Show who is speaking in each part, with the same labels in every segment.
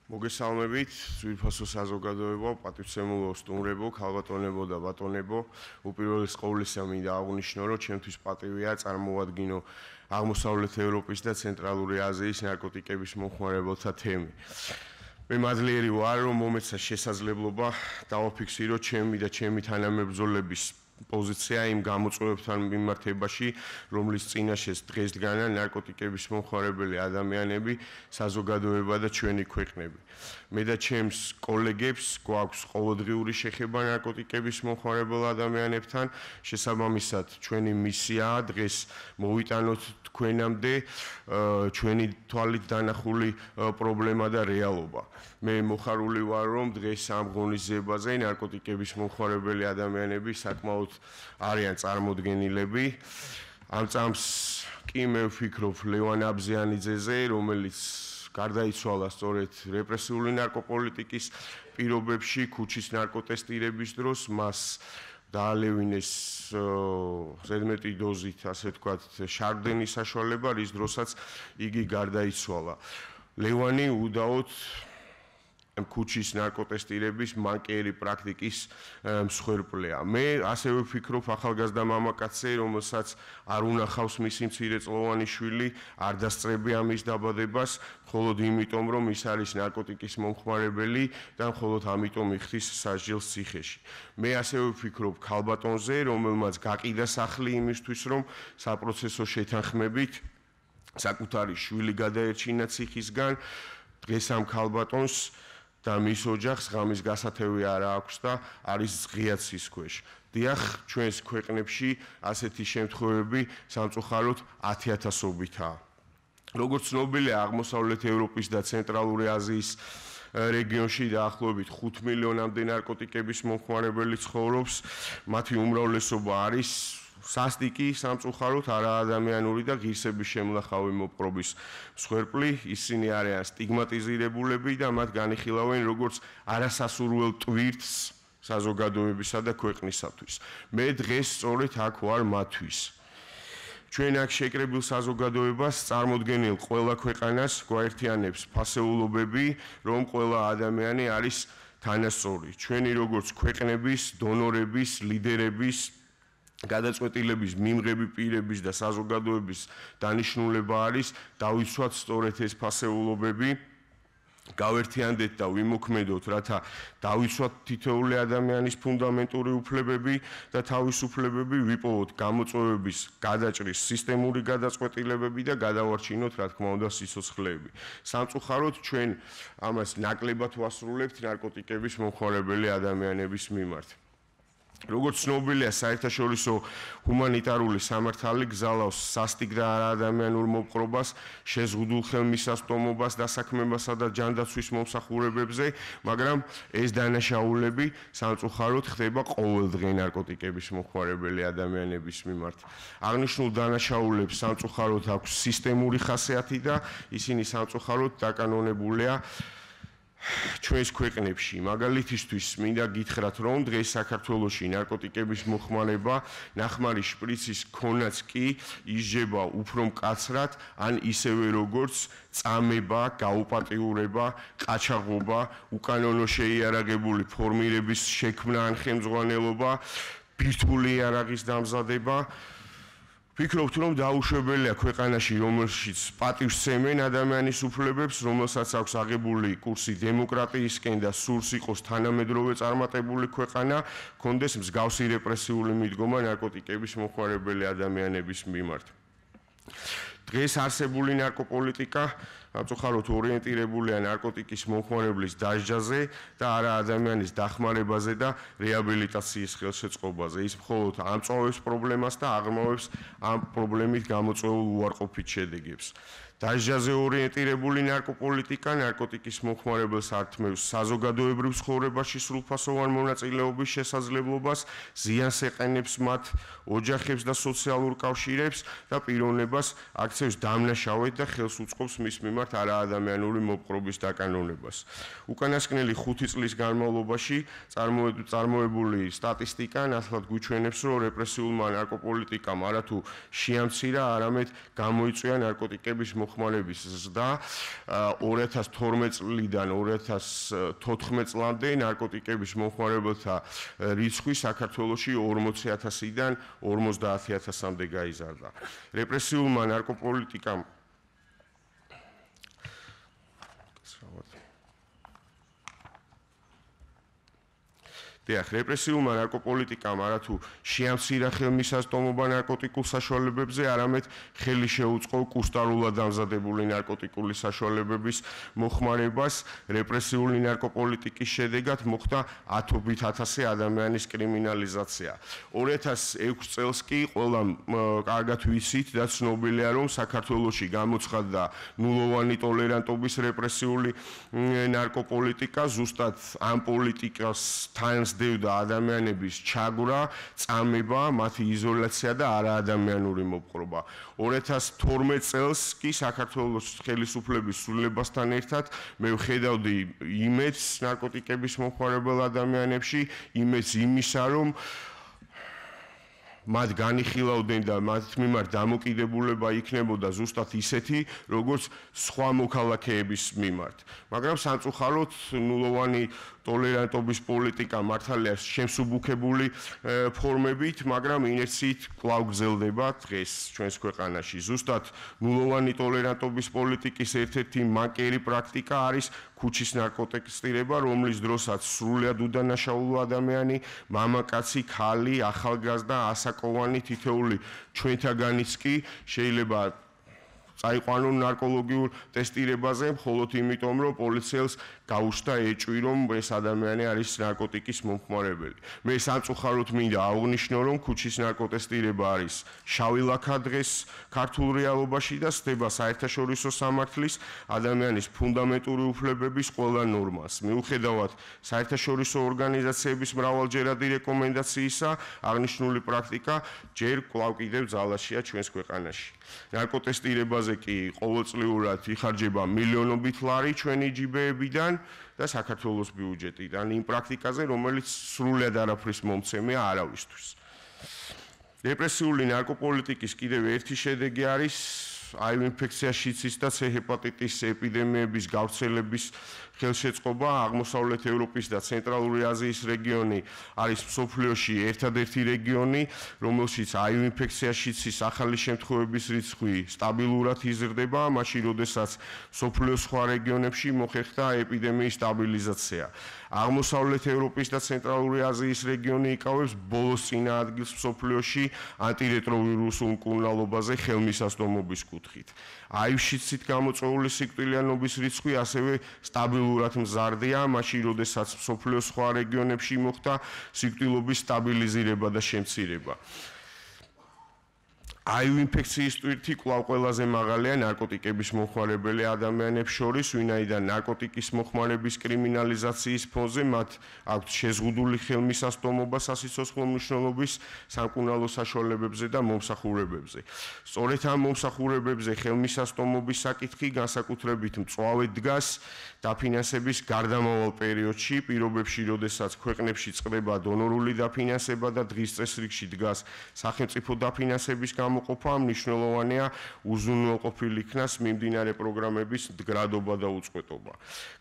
Speaker 1: მოგესალმებით, ძვირფასო საზოგადოება, პატივცემულო სტუმრებო, ქალბატონებო და ბატონებო. უპირველეს ყოვლისა მინდა აღვნიშნო, რომ ჩემთვის პატივია წარმოვადგინო აღმოსავლეთ ევროპის და ცენტრალური აზიის ნარკოტიკების მომხმარებელთა თემი. მე მადლიერი ვარ, რომ მომეცა შესაძლებლობა დავაფიქსირო ჩემი და ჩემი თანამებრძოლების პოზიცია იმ გამოწვევებთან მიმართებაში, რომლის წინაშეც დღესდღეა ნარკოტიკების მომხმარებელი ადამიანები, საზოგადოება და ჩვენი ქვეყნები. მე და ჩემს კოლეგებს გვაქვს ყოველდღიური შეხება ნარკოტიკების მომხმარებელ ადამიანებთან, შესაბამისად ჩვენი მისიაა დღეს მოვიტანოთ თქვენამდე ჩვენი თვალით დანახული პრობლემა და რეალობა. მე მოხარული ვარ, რომ დღეს ამ ღონისძიებაზე ნარკოტიკების მომხმარებელი ადამიანები საკმაოდ არიან წარმოდგენილები. ამ წამს კი მე ვფიქრობ ლევან აბზიანიძეზე, რომელიც გარდაიცვალა სწორედ რეპრესიული ნარკოპოლიტიკის პირობებში, ქუჩის ნარკოტესტირების დროს, მას დაალევინეს ზედმეტი დოზით, ასე ვთქვათ, შარდენის საშუალება, რის დროსაც იგი გარდაიცვალა. ლევანი უდაოდ ქუჩის ნარკოტესტირების მანკიერი პრაქტიკის მსხვერპლია. მე ასევე ვფიქრობ ახალგაზრდა მამაკაცზე, რომელსაც არ უნახავს მისი მცირეწლოვანი შვილი, არ დასწრებია მის დაბადებას, მხოლოდ იმიტომ, რომ ის არის ნარკოტიკის მომხმარებელი და მხოლოდ ამიტომ იხდის სასჯელს ციხეში. მე ასევე ვფიქრობ ქალბატონზე, რომელმაც გაყიდა სახლი იმისთვის, რომ საპროცესო შეთანხმებით საკუთარი შვილი გადაერჩინა ციხისგან. დღეს ამ ქალბატონს და მის ოჯახს ღამის გასათევი არ აქვს და არის ღია ცის ქვეშ. დიახ, ჩვენს ქვეყნებში ასეთი შემთხვევები სამწუხაროდ 10,000-ობითაა. როგორც ცნობილია, აღმოსავლეთ ევროპის და ცენტრალური აზიის რეგიონში დაახლოებით 5 მილიონამდე ნარკოტიკების მომხმარებელი ცხოვრობს. მათი უმრავლესობა არის სასტიკი, სამწუხაროდ არაადამიანური და ღირსების შემლახავი მოპყრობის მსხვერპლი. ისინი არიან სტიგმატიზირებულები და მათ განიხილავენ როგორც არასასურველ ტვირთს საზოგადოებისა და ქვეყნისათვის. მე დღეს სწორედ აქ ვარ მათთვის. ჩვენ აქ შეკრებილ საზოგადოებას წარმოდგენილ ყველა ქვეყანას გვაერთიანებს ფასეულობები, რომ ყველა ადამიანი არის თანასწორი. ჩვენი როგორც ქვეყნების, დონორების, ლიდერების გადაწყვეტილების მიმღები პირების და საზოგადოების დანიშნულება არის დავიცვათ სწორედ ეს ფასეულობები, გავერთიანდეთ და ვიმოქმედოთ, რათა დავიცვათ თითოეული ადამიანის ფუნდამენტური უფლებები და თავისუფლებები, ვიპოვოთ გამოწვევების გადაჭრის სისტემური გადაწყვეტილებები და გადავარჩინოთ, რა თქმა უნდა, სიცოცხლეები. სამწუხაროდ ჩვენ ამას ნაკლებად ვასრულებთ ნარკოტიკების მომხმარებელი ადამიანების მიმართ. როგორც ცნობილია, საერთაშორისო ჰუმანიტარული სამართალი გზავნავს სასტიკ და არაადამიანურ მოპყრობას, შეზღუდულ ხელმისაწვდომობას, დასაქმებასა და ჯანდაცვის მომსახურებებზე, მაგრამ ეს დანაშაულები სამწუხაროდ ხდება ყოველდღე ნარკოტიკების მომხმარებელი ადამიანების მიმართ. აღნიშნულ დანაშაულებს სამწუხაროდ აქვს სისტემური ხასიათი და ისინი სამწუხაროდ დაკანონებულია ჩვენს ქვეყნებში. მაგალითისთვის მინდა გითხრათ, რომ დღეს საქართველოში ნარკოტიკების მოხმარება ნახმარი შპრიცის ქონაც კი ისჯება უფრო მკაცრად, ან ისევე როგორც წამება, გაუპატიურება, ყაჩაღობა, უკანონო შეიარაღებული ფორმირების შექმნა ან ხელმძღვანელობა, ბირთვული იარაღის დამზადება. ვფიქრობთ, რომ დაუშვებელია ქვეყანაში, რომელშიც პატივს სცემენ ადამიანის უფლებებს, რომელსაც აქვს აღებული კურსი დემოკრატიისკენ და სურს იყოს თანამედროვე წარმატებული ქვეყანა, ჰქონდეს მსგავსი რეპრესიული მიდგომა ნარკოტიკების მომხმარებელი ადამიანების მიმართ. დღეს არსებული ნარკოპოლიტიკა სამწუხაროდ ორიენტირებულია ნარკოტიკის მომხმარებლის დასჯაზე და არა ადამიანის დახმარებაზე და რეაბილიტაციის ხელშეწყობაზე. ის მხოლოდ ამწვავებს პრობლემას და აღრმავებს ამ პრობლემით გამოწვეულ უარყოფით შედეგებს. დასჯაზე ორიენტირებული ნარკოპოლიტიკა ნარკოტიკის მომხმარებელს ართმევს საზოგადოებრივ ცხოვრებაში სრულფასოვან მონაწილეობის შესაძლებლობას, ზიანს ეყენებს მათ ოჯახებს და სოციალურ კავშირებს და პიროვნებას აქცევს დამნაშავედ და ხელს უწყობს მის მიმართ მიმართ არაადამიანური მოპყრობის დაკანონებას. უკანასკნელი 5 წლის განმავლობაში წარმოებული სტატისტიკა ნათლად გვიჩვენებს, რომ რეპრესიულმა ნარკოპოლიტიკამ არათუ შეამცირა, არამედ გამოიწვია ნარკოტიკების მოხმარების ზრდა 2012 წლიდან 2014 წლამდე ნარკოტიკების მომხმარებელთა რიცხვი საქართველოში 40,000-დან 50,000-მდე გაიზარდა. რეპრესიულმა ნარკოპოლიტიკამ რეპრესიულმა ნარკოპოლიტიკამ არათუ შეამცირა ხელმისაწვდომობა ნარკოტიკულ საშუალებებზე, არამედ ხელი შეუწყო კუსტარულად დამზადებული ნარკოტიკული საშუალებების მოხმარებას. რეპრესიული ნარკოპოლიტიკის შედეგად მოხდა ათობით ათასი ადამიანის კრიმინალიზაცია. 2006 წელს კი ყველამ კარგად ვიცით და ცნობილია, რომ საქართველოში გამოცხადდა ნულოვანი ტოლერანტობის რეპრესიული ნარკოპოლიტიკა. ზუსტად ამ პოლიტიკას თან დევდა ადამიანების ჩაგვრა, წამება, მათი იზოლაცია და არაადამიანური მოპყრობა. 2012 წელს კი საქართველოს ხელისუფლების სრულებასთან ერთად მე ვხედავდი იმედს ნარკოტიკების მომხმარებელ ადამიანებში, იმედს იმისა, რომ მათ განიხილავდნენ და მათ მიმართ დამოკიდებულება იქნებოდა ზუსტად ისეთი, როგორც სხვა მოქალაქეების მიმართ. მაგრამ სამწუხაროდ ნულოვანი ტოლერანტობის პოლიტიკა მართალია შემსუბუქებული ფორმებით, მაგრამ ინერციით კვლავ გრძელდება დღეს ჩვენს ქვეყანაში. ზუსტად ნულოვანი ტოლერანტობის პოლიტიკის ერთ-ერთი მანკიერი პრაქტიკა არის ქუჩის ნარკოტესტირება, რომლის დროსაც სრულიად უდანაშაულო ადამიანი, მამაკაცი, ქალი, ახალგაზრდა, ასაკოვანი თითოეული ჩვენთაგანიც კი შეიძლება წაიყვანონ ნარკოლოგიურ ტესტირებაზე, მხოლოდ იმიტომ, რომ პოლიციელს გაუჩნდა ეჭვი, რომ ეს ადამიანი არის ნარკოტიკის მომხმარებელი. მე სამწუხაროდ მინდა აღვნიშნო, რომ ქუჩის ნარკოტესტირება არის შავი ლაქა დღეს ქართულ რეალობაში და სდება საერთაშორისო სამართლის ადამიანის ფუნდამენტური უფლებების ყველა ნორმას. მიუხედავად საერთაშორისო ორგანიზაციების მრავალჯერადი რეკომენდაციისა, აღნიშნული პრაქტიკა ჯერ კვლავ კიდევ ძალაშია ჩვენს ქვეყანაში. ნარკოტესტირებაზე კი ყოველწლიურად იხარჯება მილიონობით ლარი ჩვენი ჯიბეებიდან და საქართველოს ბიუჯეტიდან იმ პრაქტიკაზე, რომელიც სრულად არაფრის მომცემია არავისთვის. რეპრესიული ნარკოპოლიტიკის კიდევ ერთი შედეგი არის HIV ინფექცია, შიცის და C ჰეპატიტის ეპიდემიების გავრცელების ხელშეწყობა. აღმოსავლეთ ევროპის და ცენტრალური აზიის რეგიონი არის მსოფლიოში ერთადერთი რეგიონი, რომელშიც HIV ინფექცია, შიცის ახალი შემთხვევების რიცხვი სტაბილურად იზრდება, მაშინ როდესაც მსოფლიოს სხვა რეგიონებში მოხერხდა ეპიდემიის სტაბილიზაცია. აღმოსავლეთ ევროპის და ცენტრალური აზიის რეგიონი იკავებს ბოლოს წინა ადგილს მსოფლიოში ანტირეტროვირუსულ მკურნალობაზე ხელმისაწვდომობის კუთხით. HIV-შიცით გამოწვეული სიკვდილიანობის რიცხვი ასევე სტაბილურად მზარდია, მაშინ როდესაც მსოფლიოს სხვა რეგიონებში მოხდა სიკვდილობის სტაბილიზირება და შემცირება. HIV ინფექციის ტვირთი კვლავ ყველაზე მაღალია ნარკოტიკების მომხმარებელი ადამიანებს შორის, ვინაიდან ნარკოტიკის მომხმარების კრიმინალიზაციის ფონზე მათ აქვთ შეზღუდული ხელმისაწვდომობა სასიცოცხლო მნიშვნელობის სამკურნალო საშუალებებზე და მომსახურებებზე. სწორედ ამ მომსახურებებზე ხელმისაწვდომობის საკითხი განსაკუთრებით მწვავედ დგას დაფინანსების გარდამავალ პერიოდში, პირობებში, როდესაც ქვეყნებში წყდება დონორული დაფინანსება და დღის წესრიგში დგას სახელმწიფო დაფინანსების გამოყოფა, მნიშვნელოვანია უზრუნველყოფილი იქნას მიმდინარე პროგრამების მდგრადობა და უწყვეტობა.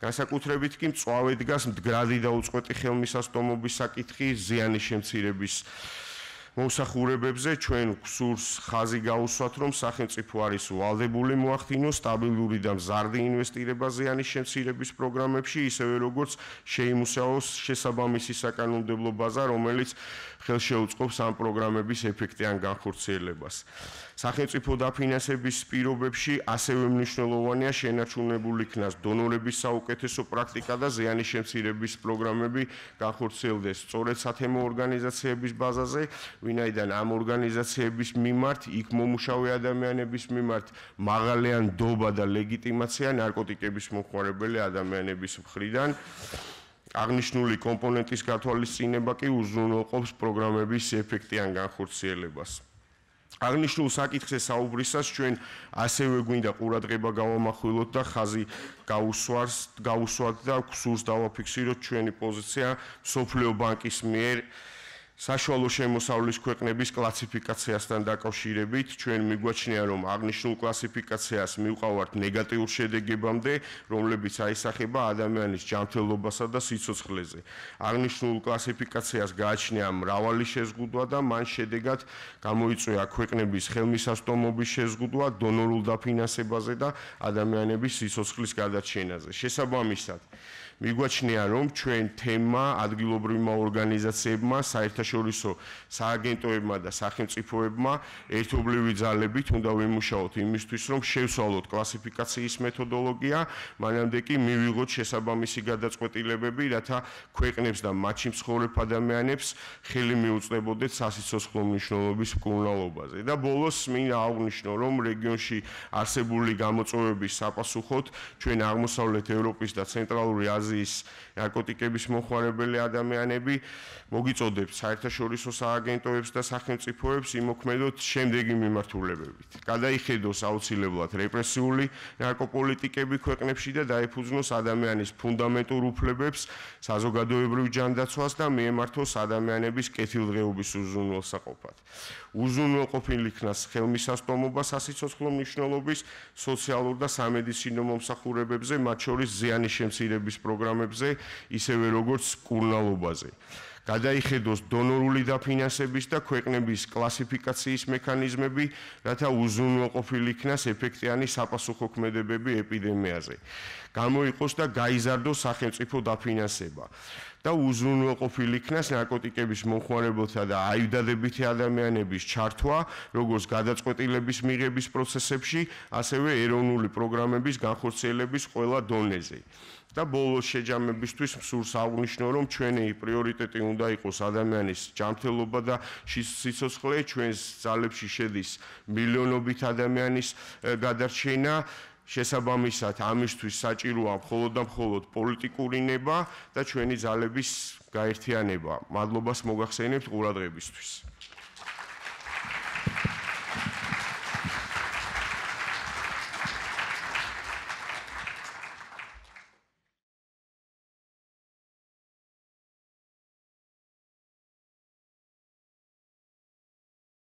Speaker 1: განსაკუთრებით კი მწვავედ დგას მდგრადი და უწყვეტი ხელმისაწვდომობის საკითხი ზიანის შემცირების მომსახურებებზე. ჩვენ გვსურს ხაზი გაუსვათ, რომ სახელმწიფო არის ვალდებული მოახდინოს სტაბილური და მზარდი ინვესტირება ზიანის შემცირების პროგრამებში, ისევე როგორც შეიმუშაოს შესაბამისი საკანონმდებლო ბაზა, რომელიც ხელშეუწყობს ამ პროგრამების ეფექტიან განხორციელებას. სახელმწიფო დაფინანსების პირობებში ასევე მნიშვნელოვანია შენარჩუნებული იქნას დონორების საუკეთესო პრაქტიკა და ზიანის შემცირების პროგრამები განხორციელდეს სწორედ სათემო ორგანიზაციების ბაზაზე, ვინაიდან ამ ორგანიზაციების მიმართ იქ მომუშავე ადამიანების მიმართ მაღალი ნდობა და ლეგიტიმაცია ნარკოტიკების მომხმარებელი ადამიანების მხრიდან. აღნიშნული კომპონენტის გათვალისწინება კი უზრუნველყოფს პროგრამების ეფექტიან განხორციელებას. აღნიშნულ საკითხზე საუბრისას ჩვენ ასევე გვინდა ყურადღება გავამახვილოთ და ხაზი გავუსვათ და გსურს დავაფიქსიროთ ჩვენი პოზიცია მსოფლიო ბანკის მიერ საშუალო შემოსავლის ქვეყნების კლასიფიკაციასთან დაკავშირებით. ჩვენ მიგვაჩნია, რომ აღნიშნულ კლასიფიკაციას მივყავართ ნეგატიურ შედეგებამდე, რომლებიც აისახება ადამიანის ჯანმრთელობასა და სიცოცხლეზე. აღნიშნულ კლასიფიკაციას გააჩნია მრავალი შეზღუდვა და მან შედეგად გამოიწვია ქვეყნების ხელმისაწვდომობის შეზღუდვა დონორულ დაფინანსებაზე და ადამიანების სიცოცხლის გადარჩენაზე. შესაბამისად, მიგვაჩნია, რომ ჩვენ თემა ადგილობრივმა ორგანიზაციებმა, საერთაშორისო სააგენტოებმა და სახელმწიფოებმა ერთობლივი ძალებით უნდა ვიმუშაოთ იმისთვის, რომ შევცვალოთ კლასიფიკაციის მეთოდოლოგია, მანამდე კი მივიღოთ შესაბამისი გადაწყვეტილებები, რათა ქვეყნებს და მათში მცხოვრებ ადამიანებს ხელი მიუწვდებოდეთ სასიცოცხლო მნიშვნელობის მკურნალობაზე. და ბოლოს მინდა აღვნიშნო, რომ რეგიონში არსებული გამოწვევების საპასუხოდ ჩვენ აღმოსავლეთ ევროპის და ცენტრალური აზიის ნარკოტიკების მოხმარებელი ადამიანები მოგიწოდებთ საერთაშორისო სააგენტოებს და სახელმწიფოებს იმოქმედოთ შემდეგი მიმართულებებით. გადაიხედოს აუცილებლად რეპრესიული ნარკოპოლიტიკები ქვეყნებში და დაეფუძნოს ადამიანის ფუნდამენტურ უფლებებს, საზოგადოებრივ ჯანდაცვას და მიემართოს ადამიანების კეთილდღეობის უზრუნველსაყოფად. უზრუნველყოფილ იქნას ხელმისაწვდომობა სასიცოცხლო მნიშვნელობის სოციალურ და სამედიცინო მომსახურებებზე, მათ შორის ზიანის შემცირების პროგრამებზე, ისევე როგორც მკურნალობაზე. გადაიხედოს დონორული დაფინანსების და ქვეყნების კლასიფიკაციის მექანიზმები, რათა უზრუნველყოფილ იქნას ეფექტიანი საპასუხო ქმედებები ეპიდემიაზე. გამოიყოს და გაიზარდოს სახელმწიფო დაფინანსება და უზრუნველყოფილ იქნას ნარკოტიკების მომხმარებელთა და აივდადებითი ადამიანების ჩართვა, როგორც გადაწყვეტილების მიღების პროცესებში, ასევე ეროვნული პროგრამების განხორციელების ყველა დონეზე. და ბოლოს შეჯამებისთვის მსურს აღვნიშნო, რომ ჩვენი პრიორიტეტი უნდა იყოს ადამიანის ჯანმრთელობა და სიცოცხლე, ჩვენს ძალებში შედის მილიონობით ადამიანის გადარჩენა. შესაბამისად, ამისთვის საჭიროა მხოლოდ და მხოლოდ პოლიტიკური ნება და ჩვენი ძალების გაერთიანება. მადლობას მოგახსენებთ ყურადღებისთვის.